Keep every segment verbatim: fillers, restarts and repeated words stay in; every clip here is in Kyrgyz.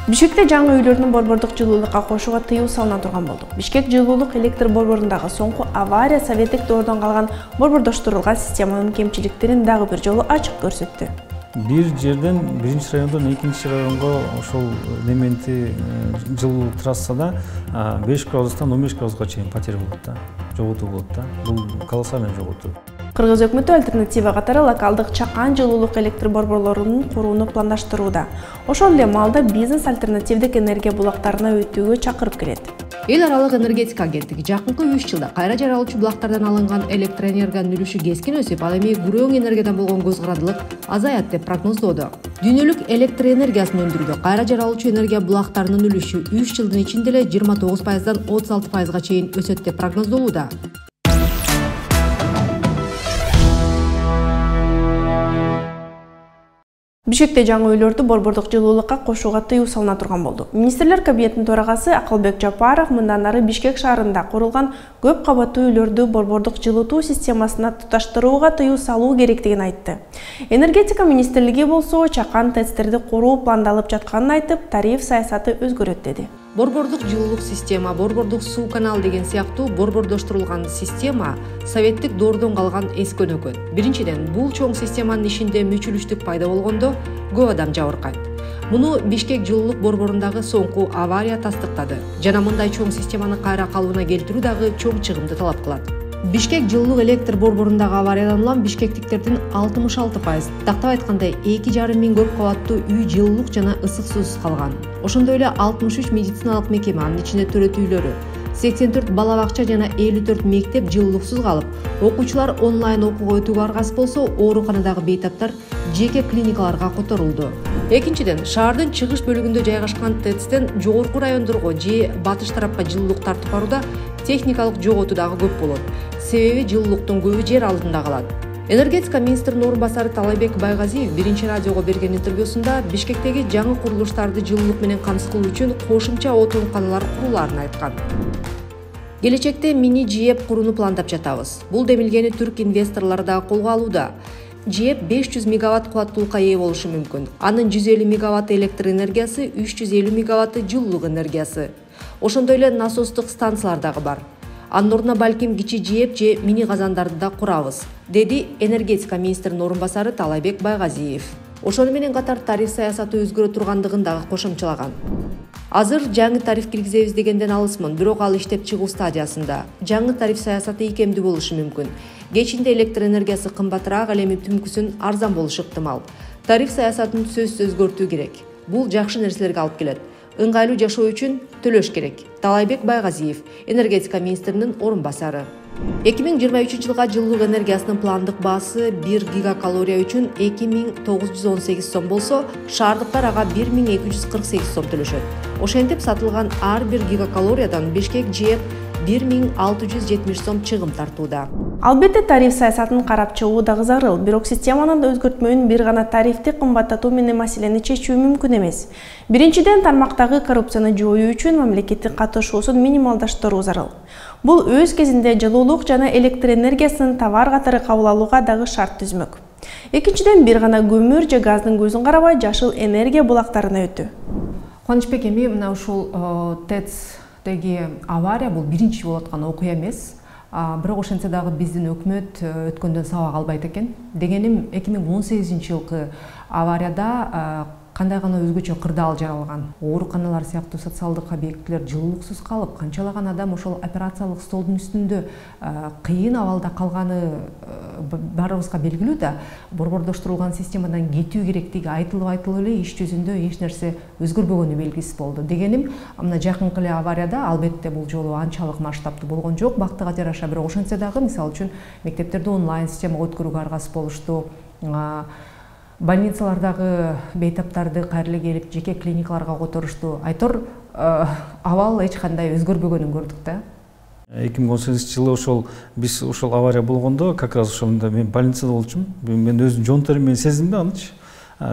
Бишкекте жаңы үйлөрдүн борбордук жылуулукка кошууга тыюу салына турган болду. Бишкек жылуулук электр борборундагы соңку авария советтик доордон калган борбордоштурулган системанын кемчиликтерин дагы бир жолу ачык көрсөттү. Бир жерден биринчи райондон экинчи районго ошол элементи жылуу трассада беш градустан он беш градуска чейин потеря болот да, жоготуу болот да. Бул колоссальный жоготуу. Кыргыз өкмөтү альтернатива катары локалдык чакан жылуулук электр борборлорунун курууну пландаштырууда. Ошол эле маалда бизнес альтернативдик энергия булактарына өтүүгө чакырып келет. Эл аралык энергетика агенттиги жакынкы үч жылда кайра жаралуучу булактардан алынган электроэнергиянын үлүшү кескин өсүп, ал эми күрөң энергиядан болгон көз карандылык азаят деп прогноздоодо. Дүйнөлүк электр энергиясын өндүрүүдө кайра жаралуучу энергия булактарынын үлүшү үч жылдын ичинде эле жыйырма тогуз пайыздан отуз алты пайызга чейин өсөт деп прогноздолууда. Бишкекте жаңы үйлөрдү борбордук жылуулукка кошууга тыюу салына турган болду. Министрлер кабинетинин төрагасы Акылбек Жапаров мындан ары Бишкек шаарында курулган көп кабаттуу үйлөрдү борбордук жылытуу системасына туташтырууга тыюу салуу керектигин айтты. Энергетика министрлиги болсо чакан ТЭЦтерди куруу пландалып жатканын айтып, тариф саясаты өзгөрөт деди. Борбордук жылуулук система, борбордук суу канал деген сыяктуу борбордоштурулган система советтик доордон калган эски өнөкөт. Биринчиден, бул чоң системанын ишинде мүчүлүштүк пайда болгондо көп адам жабыркайт. Муну Бишкек жылуулук борборундагы соңку авария тастыктады. Жана мындай чоң системаны кайра калыбына келтирүү дагы чоң чыгымды талап кылат. Бишкек жылуулук электр борборундагы авариядан улам бишкектиктердин алтымыш алты пайыз, тактап айтканда эки жарым миң көп кабаттуу үй жылуулук жана ысык суусуз калган. Ошондой эле алтымыш үч медициналык мекеме, анын ичинде төрөт үйлөрү, сексен төрт бала бакча жана элүү төрт мектеп жылуулуксуз калып, окуучулар онлайн окууга өтүүгө аргасыз болсо, ооруканадагы бейтаптар жеке клиникаларга которулду. Экинчиден, шаардын чыгыш бөлүгүндө жайгашкан ТЭЦтен жогорку райондорго же батыш тарапка жылуулук тартып барууда техникалык жоготуу дагы көп болот. Себеби жылуулуктун көбү жер алдында калат. Энергетика министринин орун басары Талайбек Байгазиев биринчи радиого берген интервьюсунда Бишкектеги жаңы курулуштарды жылуулук менен камсыз кылуу үчүн кошумча отунканалар курулаарын айткан. Келечекте мини ЖЭЭП курууну пландап жатабыз. Бул демилгени түрк инвесторлору дагы колго алууда. ЖЭЭП беш жүз мегаватт кубаттуулукка ээ болушу мүмкүн. Анын жүз элүү мегаватт электр энергиясы, үч жүз элүү мегаватты жылуулук энергиясы. Ошондой эле насостук станциялар дагы бар. Анын ордуна балким кичи ЖЭЭП же мини казандарды да курабыз, деди энергетика министринин орун басары Талайбек Байгазиев. Ошону менен катар тариф саясаты өзгөрө тургандыгын дагы кошумчалаган. Азыр жаңы тариф киргизебиз дегенден алысмын, бирок ал иштеп чыгуу стадиясында. Жаңы тариф саясаты ийкемдүү болушу мүмкүн. Кечинде электр энергиясы кымбатыраак, ал эми түнкүсүн арзан болушу ыктымал. Тариф саясатын сөзсүз өзгөртүү керек. Бул жакшы нерселерге алып келет. Ыңгайлуу жашоо үчүн төлөш керек. Талайбек Байгазиев, энергетика министринин орун басары. эки миң жыйырма үчүнчү жылга жылуулук энергиясынын пландык баасы бир гигакалория үчүн эки миң тогуз жүз он сегиз сом болсо, шаардыктар ага бир миң эки жүз кырк сегиз сом төлөшөт. Ошентип сатылган ар бир гигакалориядан Бишкек ЖЭЭП бир миң алты жүз жетимиш сом чыгым тартууда. Албетте тариф саясатын карап чыгуу дагы зарыл, бирок системанын өзгөртмөөнүн бир гана тарифти кымбаттатуу менен маселени чечүү мүмкүн эмес. Биринчиден, тармактагы коррупцияны жоюу үчүн мамлекеттин катышуусун минималдаштыруу зарыл. Бул өз кезинде жылуулук жана электр энергиясын товар катары кабыл алууга дагы шарт түзмөк. Экинчиден, бир гана көмүр же газдын көзүн карабай жашыл энергия булактарына өтүү. Кубанычбек эми мына ушул ТЭЦдеги авария бул биринчи болуп аткан окуя эмес. Бирок ошентсе дагы биздин өкмөт өткөндөн сабак албайт экен. Дегеним, эки миң он сегизинчи жылкы аварияда кандай гана өзгөчө кырдаал жаралган. Ооруканалар сыяктуу социалдык объектилер жылуулуксуз калып, канчалаган адам ошол операциялык столдун үстүндө кыйын абалда калганы баарыбызга белгилүү да. Борбордоштурулган системадан кетүү керектиги айтылып айтылып эле иш жүзүндө эч нерсе өзгөрбөгөнү белгисиз болду. Дегеним, мына жакынкы эле аварияда албетте бул жолу анчалык масштабтуу болгон жок, бактыга жараша, бирок ошентсе дагы мисалы үчүн мектептерди онлайн системага өткөрүүгө аргасыз болушту. Больницалардагы бейтаптарды кайра эле келип жеке клиникаларга которушту. Айтор абал эч кандай өзгөрбөгөнүн көрдүк да. эки миң он сегизинчи жылы ошол биз ошол авария болгондо, как раз ошондо мен больницада болчумун. Мен өзүм жон терим менен сездим да анычы.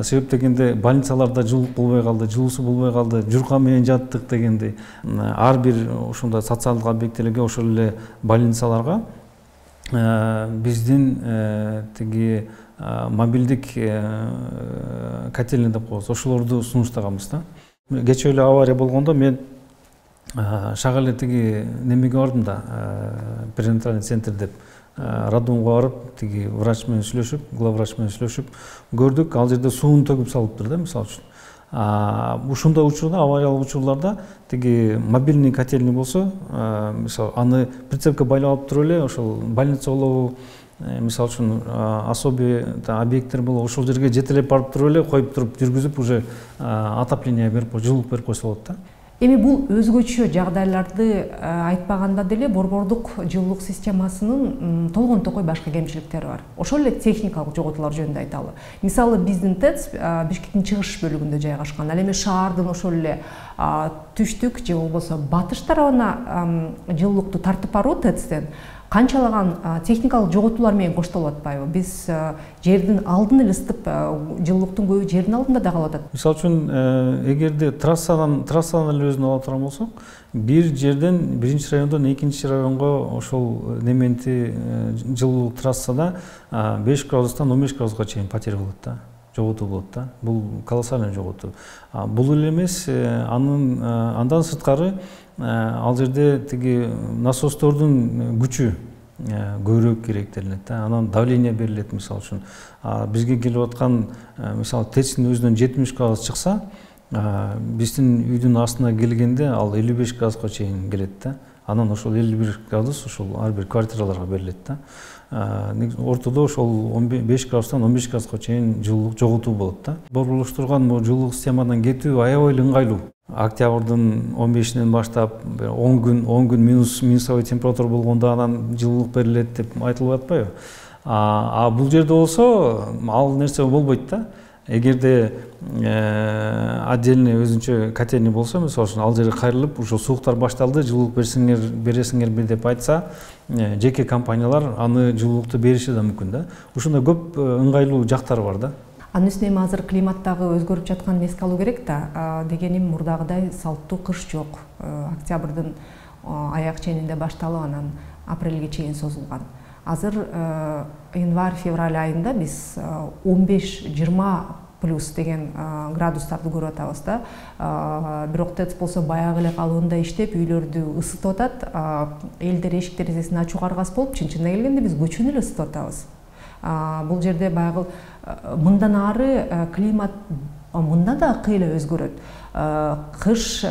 Себеп дегенде больницаларда жылуулук болбой калды, жылуусу болбой калды, журка менен жаттык дегендей. Ар бир ошондой социалдык объектилерге, ошол эле больницаларга биздин тиги мобилдик котельный деп коебуз, ошолорду сунуштаганбыз да. Кечээ эле авария болгондо мен шак эле тиги немеге бардым да, перинатальный центр деп роддомго барып, тиги врач менен сүйлөшүп, главврач менен сүйлөшүп көрдүк, ал жерде сууну төгүп салыптыр да, мисалы үчүн. Ушундай учурда, авариялык учурларда тиги мобильный котельный болсо, мисалы аны прицепке байлап алып туруп эле ошол больница болобу, мисалы үчүн особый объекттер болобу, ошол жерге жетелеп барып туруп эле коюп туруп жүргүзүп уже отопление берип, жылуулук берип койсо болот да. Эми бул өзгөчө жагдайларды айтпаганда деле борбордук жылуулук системасынын толгон токой башка кемчиликтери бар. Ошол эле техникалык жоготуулар жөнүндө айталы. Мисалы биздин ТЭЦ Бишкектин чыгыш бөлүгүндө жайгашкан. Ал эми шаардын ошол эле түштүк же болбосо батыш тарабына жылуулукту тартып баруу ТЭЦтен канчалаган техникалык жоготуулар менен коштолуп атпайбы? Биз жердин алдын эле ысытып, жылуулуктун көбү жердин алдында да калып атат. Мисалы үчүн, эгерде трассадан трассадан эле өзүн ала турган болсок, бир жерден биринчи райондон экинчи районго ошол нементи жылуулук трассада беш градустан он беш градуска чейин потеря болот да, жоготуу болот да. Бул колоссальный жоготуу. Бул эле эмес, анын андан сырткары ал жерде тиги насостордун күчү көбүрөөк керек делинет да. Анан давление берилет, мисалы үчүн. Бизге келип аткан, мисалы ТЭЦтин өзүнөн жетимиш градус чыкса, биздин үйдүн астына келгенде ал элүү беш градуска чейин келет да. Анан ошол элүү бир градус ошол ар бир квартираларга берилет да. Ортодо ошол он беш градустан он беш градуска чейин жылуулук жоготуу болот да. Борборлоштурган жылуулук системадан кетүү аябай эле ыңгайлуу. Октябрдын он бешинен баштап он күн он күн минус минусовой температура болгондо анан жылуулук берилет деп айтылып атпайбы? А бул жерде болсо ал нерсе болбойт да. Эгерде отдельный өзүнчө котельный болсо, мисалы үчүн ал жерге кайрылып, ошо сууктар башталды, жылуулук берсиңер, бересиңерби деп айтса, жеке компаниялар аны жылуулукту бериши да мүмкүн да. Ушундай көп ыңгайлуу жактары бар да. Анын үстүнө эми азыр климаттагы өзгөрүп жатканын эске алуу керек да. Дегеним, мурдагыдай салттуу кыш жок. Октябрдын аяк ченинде башталып, анан апрелге чейин созулган. Азыр январь-февраль айында биз он беш жыйырма плюс деген градустарды көрүп атабыз да. Бирок ТЭЦ болсо баягы эле калыбында иштеп, үйлөрдү ысытып атат. Элдер эшик терезесин ачууга аргасыз болуп, чын-чынына келгенде биз көчөнү эле ысытып атабыз. Бул жерде баягы мындан ары климат мында да кыйла өзгөрөт. Кыш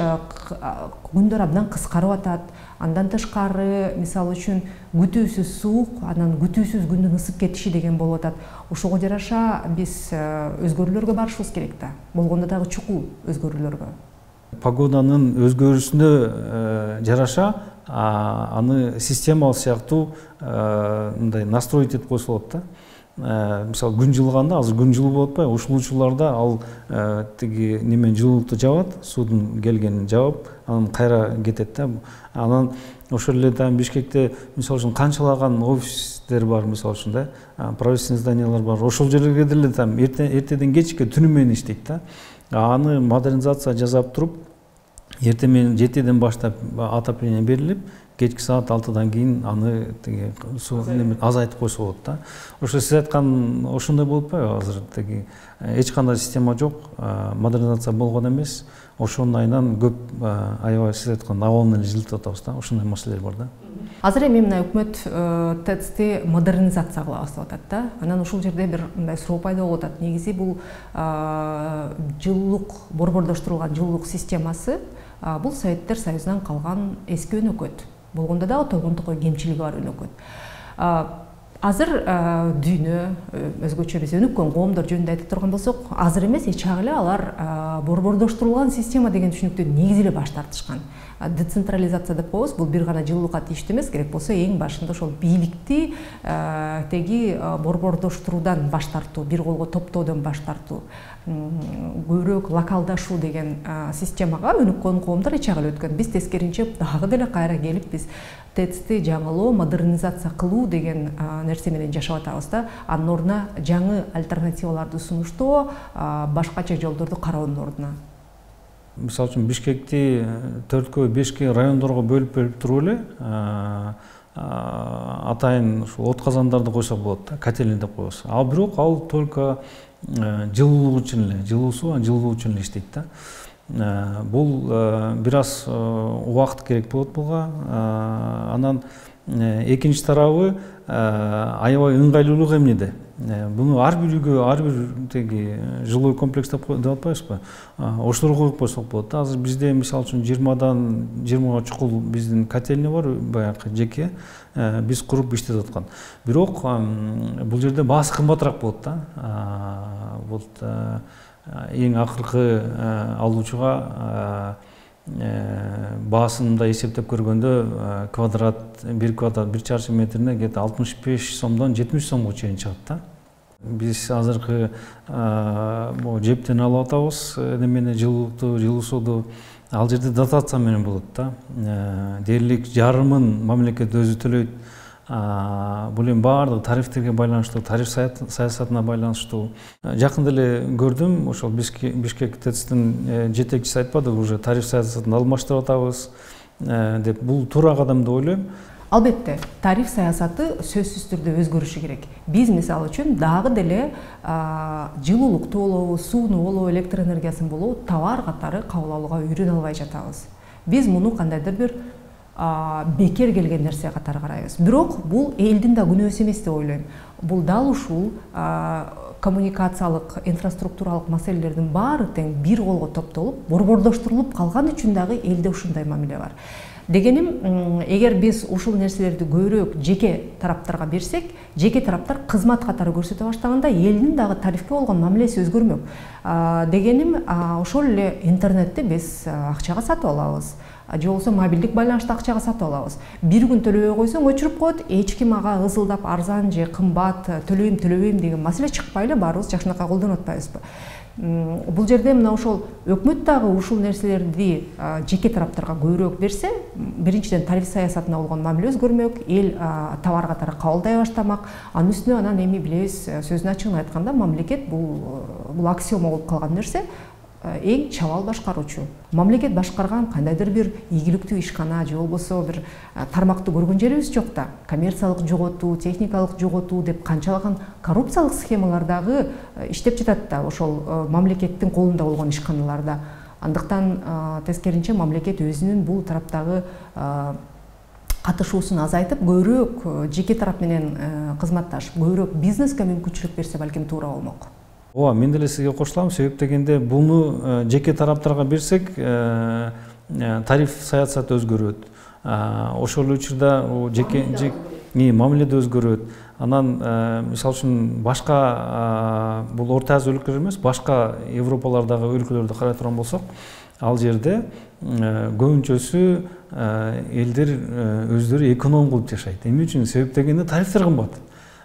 күндөр абдан кыскарып атат. Андан тышкары, мисалы үчүн, күтүүсүз суук, анан күтүүсүз күндүн ысып кетиши деген болуп атат. Ошого жараша биз өзгөрүүлөргө барышыбыз керек да. Болгондо дагы чукул өзгөрүүлөргө. Погоданын өзгөрүшүнө жараша аны системалык сыяктуу мындай настроить этип койсо болот да. Мисалы күн жылганда, азыр күн жылуу болуп атпайбы? Ушул учурларда ал тиги немен жылуулукту жабат, суудун келгенин жабып, анан кайра кетет да. Анан ошол эле там Бишкекте мисалы үчүн канчалаган офистер бар, мисалы үчүн да, правительственный зданиялар бар. Ошол жерлерге деле там эртеден кечке түнү менен иштейт да. Аны модернизация жасап туруп, эртең менен жетиден баштап отопление берилип, кечки саат алтыдан кийин аны тиги суу азайтып койсо болот да. Ошо сиз айткан ошондой болуп атпайбы? Азыр тиги эч кандай система жок, модернизация болгон эмес. Ошонун айынан көп аябай сиз айткан абалын эле жылытып атабыз да. Ошондой маселелер бар да. Азыр эми мына өкмөт ТЭЦти модернизация кылабыз деп атат да. Анан ушул жерде бир мындай суроо пайда болуп атат. Негизи бул жылуулук, борбордоштурулган жылуулук системасы бул Советтер Союзунан калган эски өнөкөт. Болгондо дагы толгон токой кемчилиги бар өнөкөт. Азыр дүйнө, өзгөчө биз өнүккөн коомдор жөнүндө айтып турган болсок, азыр эмес, эч чак эле алар борбордоштурулган система деген түшүнүктөн негизи эле баш тартышкан. Децентрализация деп коебуз, бул бир гана жылуулукка тийиштүү эмес, керек болсо эң башында ошол бийликти теги борбордоштуруудан баш тартуу, бир колго топтоодон баш тартуу, көбүрөөк локалдашуу деген системага өнүккөн коомдор эч чак эле өткөн. Биз тескеринче дагы деле кайра келип биз ТЭЦти жаңылоо, модернизация кылуу деген нерсе менен жашап атабыз да. Анын ордуна жаңы альтернативаларды сунуштоо, башкача жолдорду кароонун ордуна. Мисалы үчүн Бишкекти төрткө, бешке райондорго бөлүп бөлүп туруп эле атайын ушул от казандарды койсок болот да, котельный деп коебуз. Ал бирок ал только жылуулук үчүн эле, жылуу суу, жылуулук үчүн эле иштейт да. Бул бир аз убакыт керек болот буга. Анан экинчи тарабы аябай ыңгайлуулук эмнеде? Буну ар бир үйгө, ар бир теги жилой комплекс деп атпайбызбы? Ошолорго коюп койсок болот. Азыр бизде мисалы үчүн жыйырмадан жыйырмага чукул биздин котельня бар, баягы жеке биз куруп иштетип аткан. Бирок бул жерде баасы кымбатыраак болот да. Вот эң акыркы алуучуга баасын мындай эсептеп көргөндө квадрат бир квадрат бир чарчы метрине где то алтымыш беш сомдон жетимиш сомго чейин чыгат да. Биз азыркы могу жептен алып атабыз немени жылуулукту, жылуу сууду. Ал жерде дотация менен болот да. Дээрлик жарымын мамлекет өзү төлөйт. Бул эми баардыгы тарифтерге байланыштуу, тариф саясатына байланыштуу. Жакында эле көрдүм, ошол Бишкек ТЭЦтин жетекчиси айтпады, уже тариф саясатын алмаштырып атабыз деп. Бул туура кадам деп ойлойм. Албетте, тариф саясаты сөзсүз түрдө өзгөрүшү керек. Биз мисалы үчүн дагы деле жылуулукту болобу, сууну болобу, электр энергиясын болобу товар катары кабыл алууга үйрөнө албай жатабыз. Биз муну кандайдыр бир бекер келген нерсе катары карайбыз. Бирок бул элдин да күнөөсү эмес деп ойлойм. Бул дал ушул коммуникациялык, инфраструктуралык маселелердин баары тең бир колго топтолуп, борбордоштурулуп калган үчүн дагы элде ушундай мамиле бар. Дегеним, эгер биз ушул нерселерди көбүрөөк жеке тараптарга берсек, жеке тараптар кызмат катары көрсөтө баштаганда элдин дагы тарифке болгон мамилеси өзгөрмөк. Дегеним, ошол эле интернетти биз акчага сатып алабыз. Же болбосо мобилдик байланышты акчага сатып алабыз. Бир күн төлөбөй койсоң өчүрүп коет, эч ким ага ызылдап арзан же кымбат төлөйм төлөбөйм деген маселе чыкпай эле баарыбыз жакшынакай колдонуп атпайбызбы? Бул жерде мына ошол өкмөт дагы ушул нерселерди жеке тараптарга көбүрөөк берсе, биринчиден тариф саясатына болгон мамиле өзгөрмөк, эл товар катары кабылдай баштамак. Анын үстүнө анан эми билебиз, сөзүнүн ачыгын айтканда, мамлекет бул бул аксиома болуп калган нерсе. Эң чабал башкаруучу. Мамлекет башкарган кандайдыр бир ийгиликтүү ишкана же болбосо бир тармакты көргөн жерибиз жок да. Коммерциялык жоготуу, техникалык жоготуу деп канчалаган коррупциялык схемалар дагы иштеп жатат да ошол мамлекеттин колунда болгон ишканаларда. Андыктан тескеринче мамлекет өзүнүн бул тараптагы катышуусун азайтып, көбүрөөк жеке тарап менен кызматташып, көбүрөөк бизнеске мүмкүнчүлүк берсе балким туура болмок. Ооба, мен деле сизге кошулам. Себеп дегенде буну жеке тараптарга берсек, тариф саясаты өзгөрөт. Ошол учурда жеке мамиледе өзгөрөт. Анан мисалы үчүн башка бул Орто Азия өлкөлөр эмес, башка Европалардагы өлкөлөрдү карай турган болсок, ал жерде көбүнчөсү элдер өздөрү эконом кылып жашайт. Эмне үчүн? Себеп дегенде тарифтер кымбат.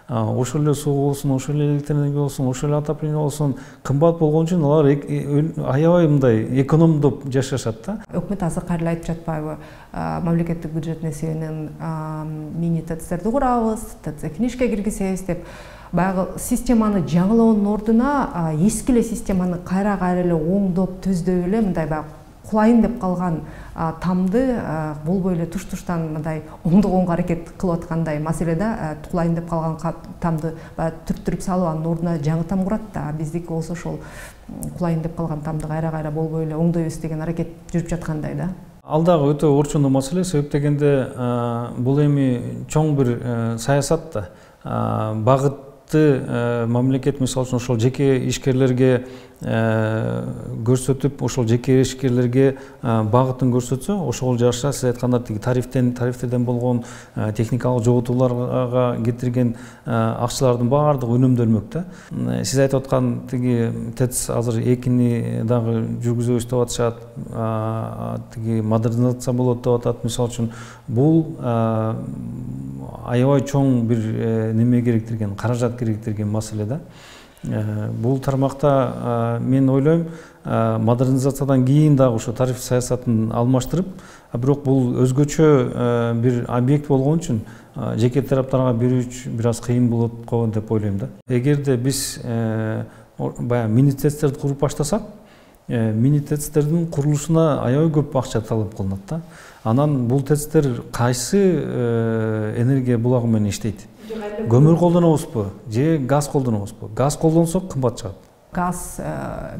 Ошол эле суу болсун, ошол эле электр энергия болсун, ошол эле отопление болсун, кымбат болгон үчүн алар аябай мындай экономдоп жашашат да. Өкмөт азыр кайра айтып жатпайбы? Мамлекеттик бюджеттин эсебинен мини ТЭЦтерди курабыз, ТЭЦ ишке киргизебиз деп. Баягы системаны жаңылоонун ордуна эски эле системаны кайра-кайра эле оңдоп, төздөп эле мындай баягы кулайын деп калган тамды болбой эле туш-туштан мындай оңдогонго аракет кылып аткандай маселеде кулайын деп калган тамды түрттүрүп салып анын ордуна жаңы там курат да. Биздики болсо ошол кулайын деп калган тамды кайра-кайра болбой эле оңдойбуз деген аракет жүрүп жаткандай да. Ал дагы өтө орчундуу маселе. Себеп дегенде бул эми чоң бир саясат да. Багыт мамлекет мисалы үчүн ошол жеке ишкерлерге көрсөтүп, ошол жеке ишкерлерге багытын көрсөтсө, ошол жараша сиз айткандардей тарифтен тарифтерден болгон техникалык жоготууларга кетирген акчалардын баардыгы үнөмдөлмөк да. Сиз айтып аткан тиги ТЭЦ азыр экини дагы жүргүзөбүз деп атышат, тиги модернизация болот деп атат. Мисалы үчүн бул аябай чоң бир неме керектирген, каражат керектирген маселе да. Бул тармакта мен ойлойм, модернизациядан кийин дагы ошо тариф саясатын алмаштырып, бирок бул өзгөчө бир объект болгон үчүн жеке тараптарга берүүчү бир аз кыйын болот го деп ойлойм да. Эгерде биз баягы мини ТЭЦтерди куруп баштасак, мини ТЭЦтердин курулушуна аябай көп акча талап кылынат да. Анан бул ТЭЦтер кайсы энергия булагы менен иштейт? Көмүр колдонобузбу же газ колдонобузбу? Газ колдонсок кымбат чыгат. газ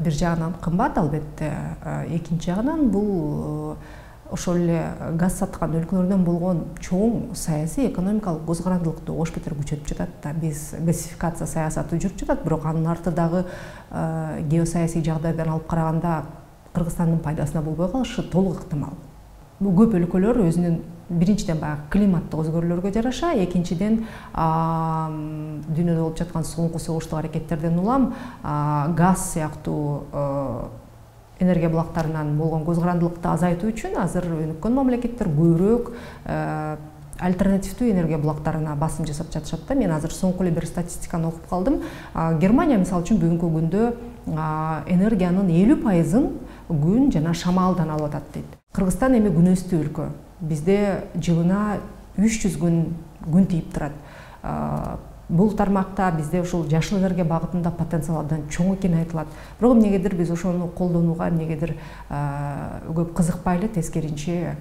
бир жагынан кымбат, албетте. Экинчи жагынан бул ошол эле газ саткан өлкөлөрдөн болгон чоң саясий экономикалык көз карандылыкты ош бетер күчөтүп жатат да. Биз газификация саясаты жүрүп жатат, бирок анын артындагы геосаясий жагдайдан алып караганда Кыргызстандын пайдасына болбой калышы толук ыктымал. Бул көп өлкөлөр өзүнүн биринчиден баягы климаттык өзгөрүүлөргө жараша, экинчиден дүйнөдө болуп жаткан соңку согуштук аракеттерден улам газ сыяктуу энергия булактарынан болгон көз карандылыкты азайтуу үчүн азыр өнүккөн мамлекеттер көбүрөөк альтернативдүү энергия булактарына басым жасап жатышат да. Мен азыр соңку эле бир статистиканы окуп калдым. Германия мисалы үчүн бүгүнкү күндө энергиянын элүү пайызын күн жана шамалдан алып атат дейт. Кыргызстан эми күнөстүү өлкө. Бизде жылына үч жүз күн күн тийип турат. Бул тармакта бизде ушул жашыл энергия багытында потенциал абдан чоң экени айтылат. Бирок эмнегедир биз ошону колдонууга эмнегедир көп кызыкпай эле, тескеринче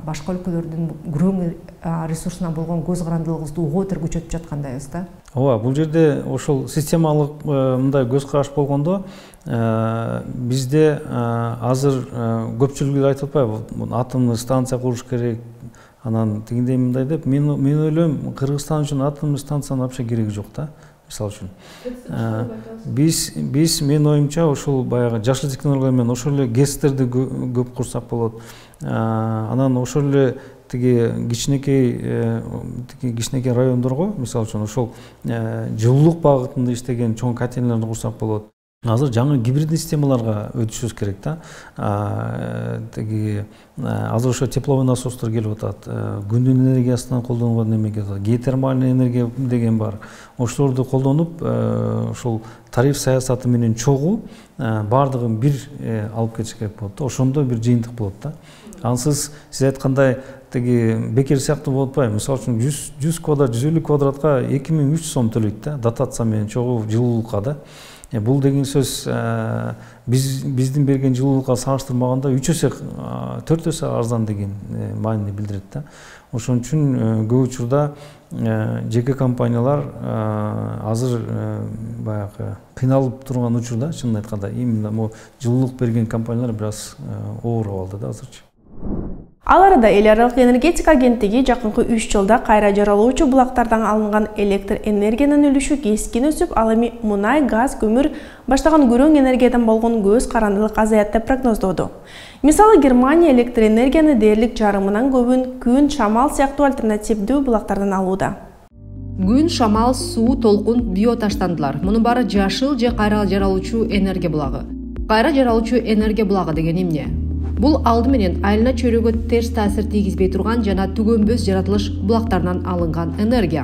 башка өлкөлөрдүн күрөң ресурсуна болгон көз карандылыгыбызды угуу бетер күчөтүп жаткандайбыз да. Ооба, бул жерде ошол системалык мындай көз караш болгондо бизде азыр көпчүлүгү айтып атпайбы, атомдук станция куруш керек, анан тигиндей мындай деп. Мен мен ойлойм, Кыргызстан үчүн атомдук станциянын вообще кереги жок да. Мисалы үчүн биз биз мен оюмча ошол баягы жашыл технология менен ошол эле гэстерди көп курсак болот. Анан ошол эле тиги кичинекей тиги кичинекей райондорго, мисалы үчүн ошол жылуулук багытында иштеген чоң котельнияларды курсак болот. Азыр жаңы гибриддик системаларга өтүшүбүз керек да. Тиги азыр ошо тепловой насостор келип атат. Күндүн энергиясынан колдонууга неме келип атат. Геотермальный энергия деген бар. Ошолорду колдонуп, ошол тариф саясаты менен чогуу бардыгын бир алып кетиш керек болот да. Ошондо бир жыйынтык болот да. Ансыз сиз айткандай тиги бекер сыяктуу болуп атпайбы? Мисалы үчүн жүз квадрат, жүз элүү квадратка эки миң үч жүз сом төлөйт да, дотация менен чогуу жылуулукка да. Бул деген сөз биз биздин берген жылуулукка салыштырмаганда үч эсе, төрт эсе арзан деген маанини билдирет да. Ошон үчүн көп учурда жеке компаниялар азыр баягы кыйналып турган учурда, чынын айтканда, именно могу жылуулук берген компаниялар бир аз ооруп алды да азырчы. Ал арада эл аралык энергетика агенттиги жакынкы үч жылда кайра жаралуучу булактардан алынган электр энергиянын үлүшү кескин өсүп, ал эми мунай, газ, көмүр баштаган күрөң энергиядан болгон көз карандылык азаят деп прогноздоду. Мисалы, Германия электр энергияны дээрлик жарымынан көбүн күн, шамал сыяктуу альтернативдүү булактардан алууда. Күн, шамал, суу, толкун, биоташтандылар. Мунун баары жашыл же кайра жаралуучу энергия булагы. Кайра жаралуучу энергия булагы деген эмне? Бул алды менен айылына чөйрөгө терс таасир тийгизбей турган жана түгөнбөс жаратылыш булактарынан алынган энергия.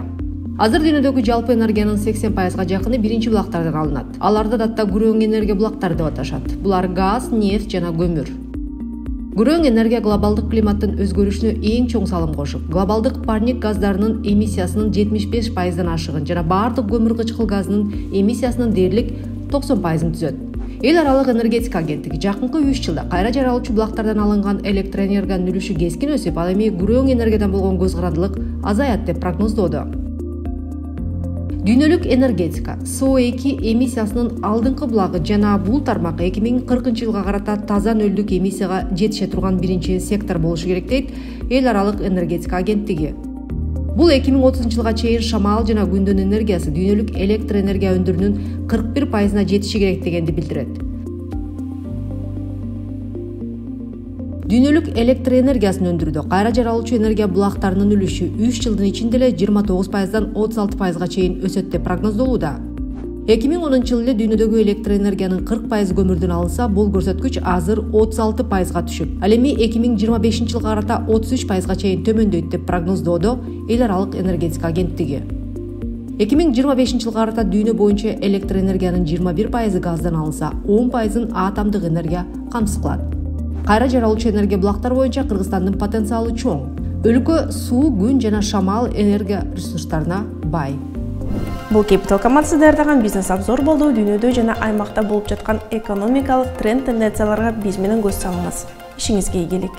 Азыр дүйнөдөгү жалпы энергиянын сексен пайызга жакыны биринчи булактардан алынат. Аларды датта күрөң энергия булактары деп аташат. Булар газ, нефть жана көмүр. Күрөң энергия глобалдык климаттын өзгөрүшүнө эң чоң салым кошуп, глобалдык парник газдарынын эмиссиясынын жетимиш беш пайыздан ашыгын жана баардык көмүр кычкыл газынын эмиссиясынын дээрлик токсон пайызын түзөт. Эл аралык энергетика агенттиги жакынкы үч жылда кайра жаралуучу булактардан алынган электроэнергиянын үлүшү кескин өсүп, ал эми күрөң энергиядан болгон көз карандылык азаят деп прогноздоду. Дүйнөлүк энергетика С О эки эмиссиясынын алдыңкы булагы жана бул тармак эки миң кыркынчы жылга карата таза нөлдүк эмиссияга жетише турган биринчи сектор болушу керек дейт эл аралык энергетика агенттиги. Бул эки миң отузунчу жылга чейин шамал жана күндүн энергиясы дүйнөлүк электр энергия өндүрүүнүн кырк бир пайызына жетиши керек дегенди билдирет. Дүйнөлүк электр энергиясын өндүрүүдө кайра жаралуучу энергия булактарынын үлүшү үч жылдын ичинде эле жыйырма тогуз пайыздан отуз алты пайызга чейин өсөт деп прогноздолууда. эки миң онунчу жылы эле дүйнөдөгү электр энергиянын кырк пайызы көмүрдөн алынса, бул көрсөткүч азыр отуз алты пайызга түшүп, ал эми эки миң жыйырма бешинчи жылга карата отуз үч пайызга чейин төмөндөйт деп прогноздоодо эл аралык энергетика агенттиги. эки миң жыйырма бешинчи жылга карата дүйнө боюнча электр энергиянын жыйырма бир пайызы газдан алынса, он пайызын атомдук энергия камсыз кылат. Кайра жаралуучу энергия булактары боюнча Кыргызстандын потенциалы чоң. Өлкө суу, күн жана шамал энергия ресурстарына бай. Бул Capital командасы даярдаган бизнес обзор болду. Дүйнөдө жана аймакта болуп жаткан экономикалык тренд тенденцияларга биз менен көз салыңыз. Ишиңизге ийгилик.